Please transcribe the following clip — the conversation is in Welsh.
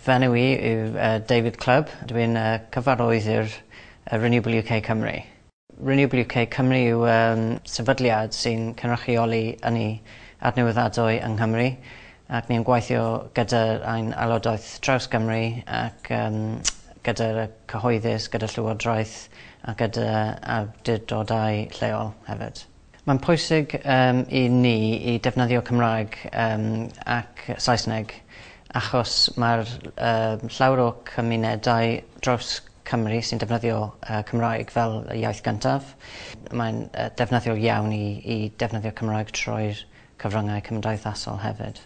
Fy enw i yw David Clubb. Dwi'n cyfarwyddwr Renewable UK Cymru. Renewable UK Cymru yw sefydliad sy'n cynrychioli ynni adnewyddadwy yng Nghymru ac ni'n gweithio gyda ein aelodaeth draws Gymru ac gyda'r cyhoeddus, gyda Llywodraeth a gyda awdurdodau lleol hefyd. Mae'n pwysig i ni i defnyddio Cymraeg ac Saesneg achos mae'r llawer o cymunedau draws Cymru sy'n defnyddio Cymraeg fel y iaith gyntaf. Mae'n defnyddiol iawn i defnyddio Cymraeg trwy'r cyfryngau cymdeithasol hefyd.